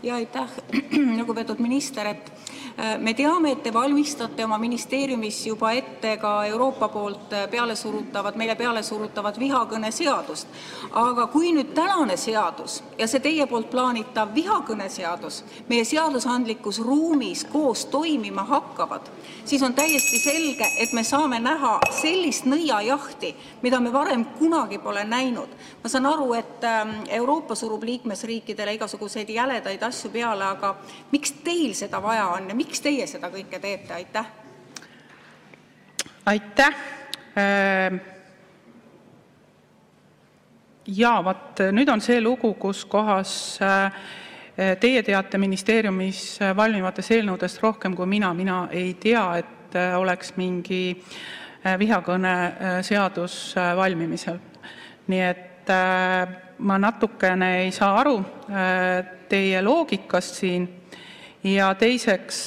Ja aitäh, lugupeetud minister, et me teame, et te valmistate oma ministeeriumis juba ette ka Euroopa poolt meile peale surutavat vihakõneseadust. Aga kui nüüd tänane seadus ja see teie poolt plaanitav vihakõneseadus meie seadusandlikus ruumis koos toimima hakkavad, siis on täiesti selge, et me saame näha sellist nõiajahti, mida me varem kunagi pole näinud. Ma saan aru, et Euroopa surub liikmesriikidele igasuguseid jäledaid asju peale, aga miks teil seda vaja on ja miks teie seda kõike teete? Aitäh! Aitäh! Jaa, nüüd on see lugu, kus kohas teie teate ministeeriumis valmivatest eelnõudest rohkem kui mina. Mina ei tea, et oleks mingi vihakõne seadus valmimisel. Nii et ma natukene ei saa aru teie loogikast siin ja teiseks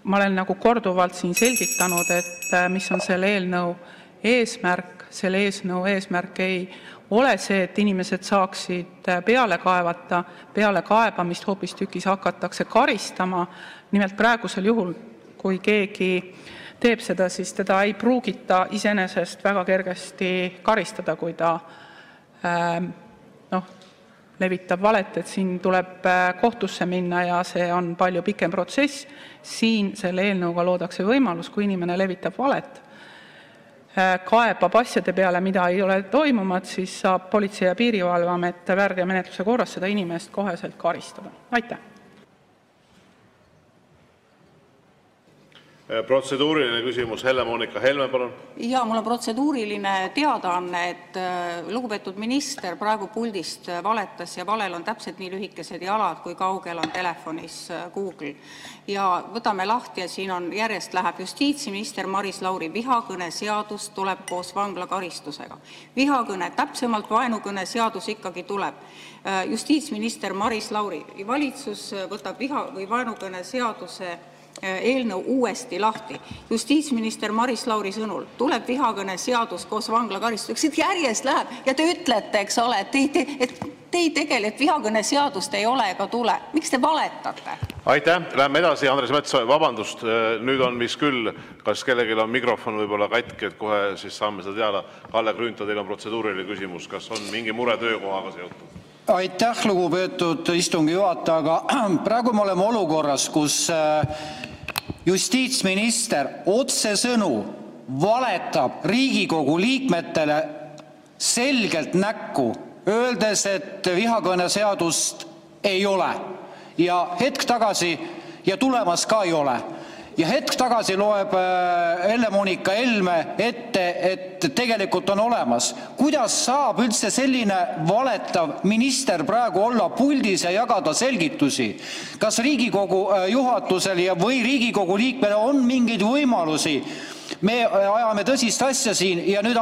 ma olen nagu korduvalt siin selgitanud, et mis on selle eelnõu eesmärk. Selle eelnõu eesmärk ei ole see, et inimesed saaksid peale kaevata, peale kaebamist hoopistükkis hakatakse karistama. Nimelt praegusel juhul, kui keegi teeb seda, siis teda ei pruugita iseenesest väga kergesti karistada, kui ta levitab valet, et siin tuleb kohtusse minna ja see on palju pikem protsess. Siin selle eelnõuga loodakse võimalus, kui inimene levitab valet, kaebab asjade peale, mida ei ole toimumat, siis saab Politsei- ja Piirivalveamet väärteomenetluse korras seda inimest koheselt karistada. Aitäh! Protseduuriline küsimus, Helle-Moonika Helme, palun. Ja mul on protseduuriline teadaanne, et lugupeetud minister praegu puldist valetas ja valel on täpselt nii lühikesed jalad, kui kaugel on telefonis Google. Ja võtame lahti ja siin on järjest läheb justiitsminister Maris Lauri. Vihakõne seadus tuleb koos vanglakaristusega. Vihakõne, täpsemalt vaenukõne seadus ikkagi tuleb. Justiitsminister Maris Lauri. Valitsus võtab vaenukõne seaduse eelnõu uuesti lahti. Justiitsminister Maris Lauri sõnul tuleb vihakõne seadus koos vanglakaristuseks. Järjest läheb ja te ütlete, eks ole, et te ei tegele, et vihakõne seadust ei ole ega tule. Miks te valetate? Aitäh! Läheme edasi. Andres Metsoja, vabandust, nüüd on mis küll, kas kellelgi on mikrofon võib-olla katki, et kohe siis saame seda teada. Kalle Grünthal, teil on protseduuriline küsimus. Kas on mingi mure töökohaga seotud? Aitäh, lugupeetud istungi juhataja, aga praegu me oleme olukorras, kus justiitsminister otsesõnu valetab Riigikogu liikmetele selgelt näkku, öeldes, et vihakõne seadust ei ole ja hetk tagasi ja tulemas ka ei ole. Ja hetk tagasi loeb Helle-Moonika Helme ette, et tegelikult on olemas. Kuidas saab üldse selline valetav minister praegu olla puldis ja jagada selgitusi? Kas Riigikogu juhatusel või Riigikogu liikmele on mingeid võimalusi? Me ajame tõsist asja siin ja nüüd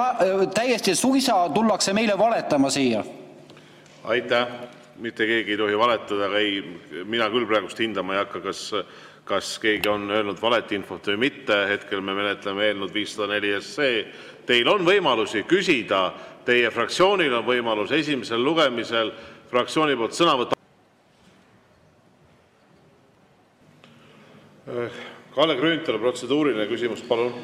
täiesti suisa tullakse meile valetama siia. Aitäh! Mitte keegi ei tohi valetada, aga ei, mina küll praegust hindama ei hakka, kas keegi on öelnud valet infot või mitte. Hetkel me menetleme eelnõud 504 SE. Teil on võimalusi küsida, teie fraktsioonil on võimalus esimesel lugemisel fraktsiooni poolt sõna võtta. Kalle Grünthal, protseduuriline küsimus, palun.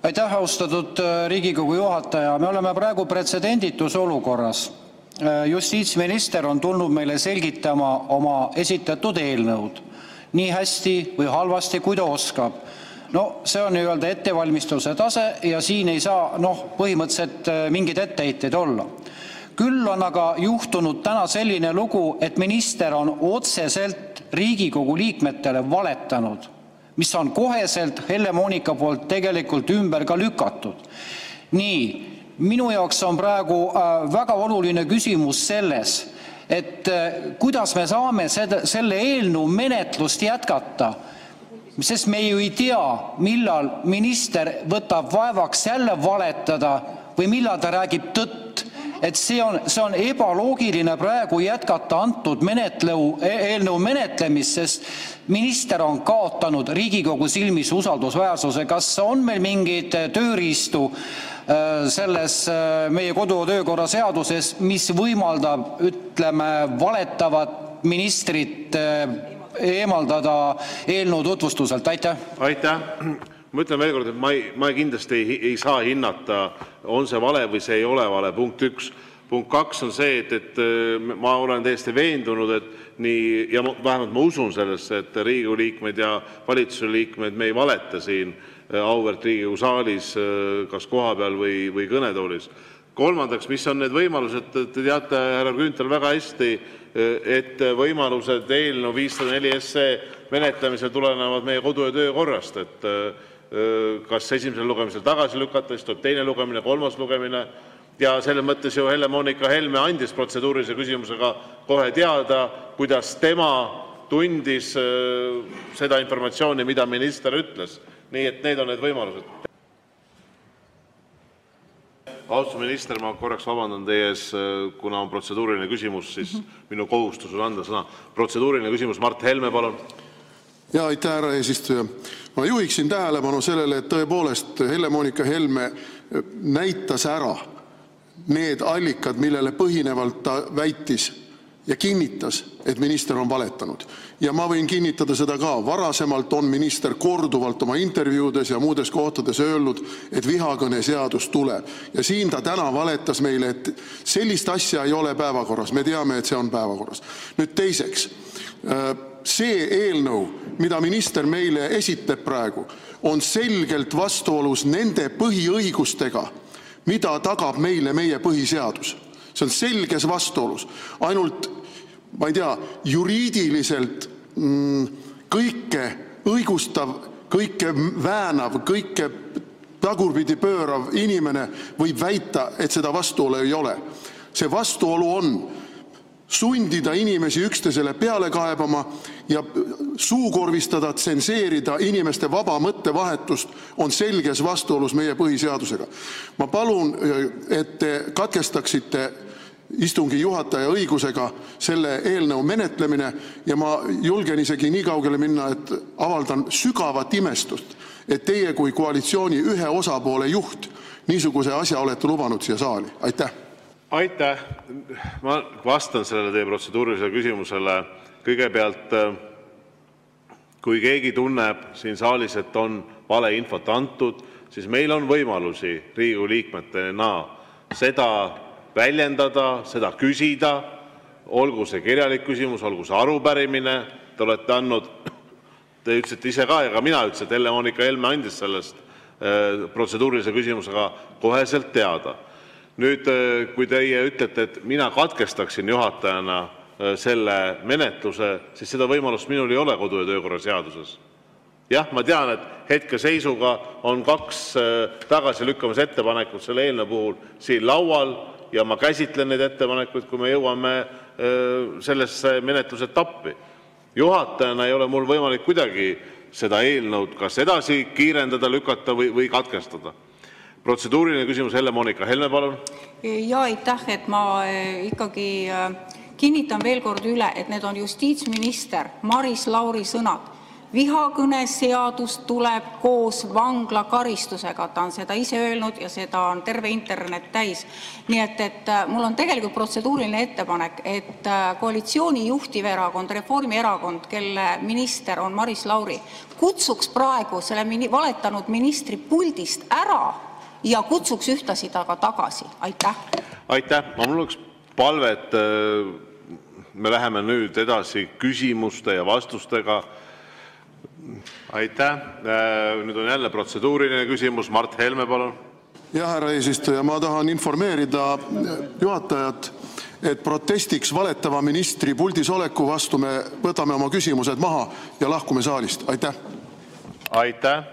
Aitäh, austatud Riigikogu juhataja. Me oleme praegu pretsedenditus olukorras. Justiitsminister on tulnud meile selgitama oma esitatud eelnõud nii hästi või halvasti, kui ta oskab. See on nii-öelda ettevalmistuse tase ja siin ei saa põhimõtteliselt mingeid etteheiteid olla. Küll on aga juhtunud täna selline lugu, et minister on otseselt Riigikogu liikmetele valetanud, mis on koheselt Helle-Moonika poolt tegelikult ümber ka lükatud. Nii, minu jaoks on praegu väga oluline küsimus selles, et kuidas me saame selle eelnõu menetlust jätkata, sest me ju ei tea, millal minister võtab vaevaks jälle valetada või millal ta räägib tõtt. See on ebaloogiline praegu jätkata antud eelnõu menetlemist, sest minister on kaotanud Riigikogu silmis usaldusväärsuse. Kas on meil mingeid tööriistu selles meie kodu- ja töökorra seaduses, mis võimaldab, ütleme, valetavat ministrit eemaldada eelnõu tutvustuselt? Aitäh! Ma ütlen veel kord, et ma kindlasti ei saa hinnata, on see vale või see ei ole vale, punkt 1. Punkt 2 on see, et ma olen täiesti veendunud, et nii, ja vähemalt ma usun sellesse, et Riigikogu liikmed ja valitsuse liikmed, me ei valeta siin auväärt Riigikogu saalis, kas kohapeal või kõnetoolis. Kolmandaks, mis on need võimalused? Te teate, härra Grünthal, väga hästi, et võimalused eelnõu 504 SE menetlemisel tulenevad meie kodu- ja töökorrast, et kas esimesel lugemisel tagasi lükata, siis tuleb teine lugemine, kolmas lugemine. Ja selles mõttes ju Helle-Moonika Helme andis protseduurilise küsimusega kohe teada, kuidas tema tundis seda informatsiooni, mida minister ütles. Nii et need on need võimalused. Austatud minister, ma korraks vabandan teie ees, kuna on protseduuriline küsimus, siis minu kohustus on anda sõna. Protseduuriline küsimus, Mart Helme, palun. Ja aitäh, härra eesistuja. Ma juhiksin tähelepanu sellele, et tõepoolest Helle-Moonika Helme näitas ära need allikad, millele põhinevalt ta väitis ja kinnitas, et minister on valetanud. Ja ma võin kinnitada seda ka. Varasemalt on minister korduvalt oma intervjuudes ja muudes kohtades öelnud, et vihakõne seadus tuleb. Ja siin ta täna valetas meile, et sellist asja ei ole päevakorras. Me teame, et see on päevakorras. Nüüd teiseks, see eelnõu, mida minister meile esitab praegu, on selgelt vastuolus nende põhiõigustega, mida tagab meile meie põhiseadus. See on selges vastuolus. Ainult, ma ei tea, juriidiliselt kõike õigustav, kõike väänav, kõike tagurpidi pöörav inimene võib väita, et seda vastuolu ei ole. See vastuolu on sundida inimesi üksteisele peale kaebama ja suukorvistada, tsenseerida inimeste vaba mõttevahetust on selges vastuolus meie põhiseadusega. Ma palun, et te katkestaksite istungi juhataja õigusega selle eelnõu menetlemine ja ma julgen isegi nii kaugele minna, et avaldan sügavat imestust, et teie kui koalitsiooni ühe osapoole juht niisuguse asja olete lubanud siia saali. Aitäh! Aitäh! Ma vastan sellele teie protseduurilisele küsimusele. Kõigepealt, kui keegi tunneb siin saalis, et on valeinfot antud, siis meil on võimalusi Riigikogu liikmetena seda väljendada, seda küsida, olgu see kirjalik küsimus, olgu see arupärimine. Te olete andnud, te ütlesite ise ka ja ka mina ütlesin, et Helle-Moonika Helme andis sellest protseduurilise küsimusega koheselt teada. Nüüd, kui teie ütlete, et mina katkestaksin juhatajana selle menetluse, siis seda võimalust minul ei ole kodu- ja töökorra seaduses. Jah, ma tean, et hetkeseisuga on 2 tagasilükkamise ettepanekut selle eelnõu puhul siin laual ja ma käsitlen neid ettepanekuid, kui me jõuame sellesse menetlusetappi. Juhatajana ei ole mul võimalik kuidagi seda eelnõud kas edasi kiirendada, lükata või katkestada. Protseduuriline küsimus, Helle-Moonika Helme, palun. Ja aitäh, et ma ikkagi kinnitan veel kord üle, et need on justiitsminister Maris Lauri sõnad. Vihakõne seadus tuleb koos vanglakaristusega. Ta on seda ise öelnud ja seda on terve internet täis. Nii et mul on tegelikult protseduuriline ettepanek, et koalitsiooni juhtiv erakond, Reformierakond, kelle minister on Maris Lauri, kutsuks praegu selle valetanud ministri puldist ära ja kutsuks ühtlasi ta ka tagasi. Aitäh! Aitäh! Mul oleks palve, et me läheme nüüd edasi küsimuste ja vastustega. Aitäh! Nüüd on jälle protseduuriline küsimus. Mart Helme, palun. Ja härra eesistuja, ma tahan informeerida juhatajat, et protestiks valetava ministri puldis oleku vastu me võtame oma küsimused maha ja lahkume saalist. Aitäh! Aitäh!